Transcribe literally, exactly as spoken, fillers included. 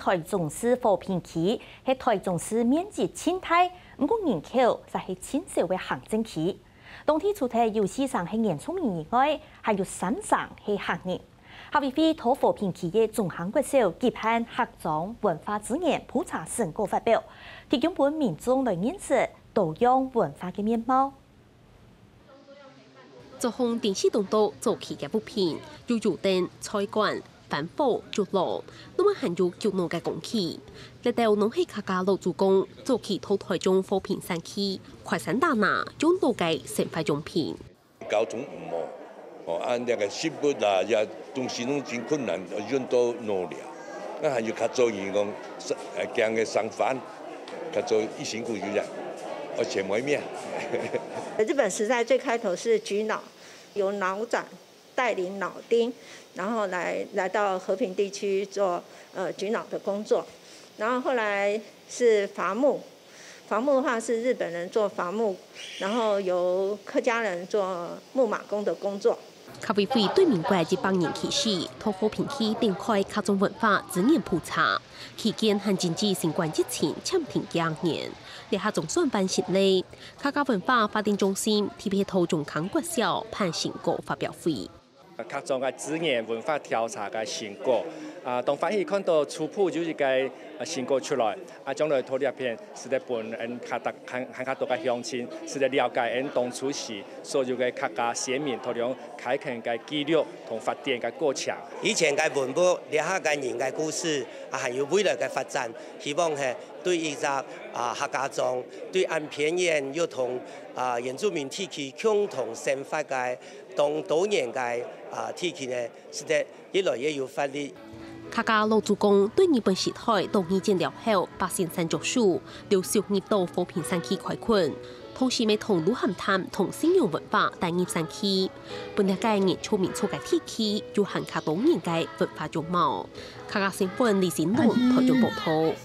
臺中市和平區係臺中市面積盡大，毋過人口卻係盡少个行政區。當地除忒有四成係原住民以外，還有三成係客人。客委會在和平區个中坑國小舉辦客庄文化資源普查成果發表，提供分民眾來認識多樣文化个面貌。 作風定勢當多早期个物品，有油燈、菜罐、番火、竹籮，另外還有竹籠个工具。這兜攏係客家老祖公早期在臺中和平山區開山打林用到个生活用品。交通毋好，哦，啊，該个食物啊，也東西攏真困難，運到農寮。啊還有較早人講，呃，行个生番，較早一辛苦就這樣，而且無命。日本時代最開頭是菊腦，由腦長帶領腦丁，然後來，來到和平地區做，呃，菊腦的工作。然後後來是伐木，伐木的話是日本人做伐木，然後由客家人做木馬工的工作。客委會對民國一百年起始，在和平區展開客庄文化資源普查，期間還經歷新冠疫情暫停幾年，這下總算完成了。客家文化發展中心特別在中坑國小辦成果發表會。 客庄个資源文化調查个成果，啊，當歡喜看到初步有一個，呃，成果出來，啊，將來在這片使得分𫣆較大，還，還較多个鄉親，使得了解𫣆當初時所有个客家先民在這開墾个記錄同發展个過程。以前个文物，這下个人个故事，啊，還有未來个發展，希望係對一隻，啊，客家庄，對𫣆偏遠又同，啊，原住民地區共同生活个 當多元个，啊，地區呢，使得越來越有活力。客家老祖公對日本時代到二戰了後，百姓山著樹，陸續入到和平山區開墾，同時乜同鹿喊潭同信仰文化帶入山區，分這個原住民族个地區有還較多元个文化樣貌。客家新聞李新龍臺中報導。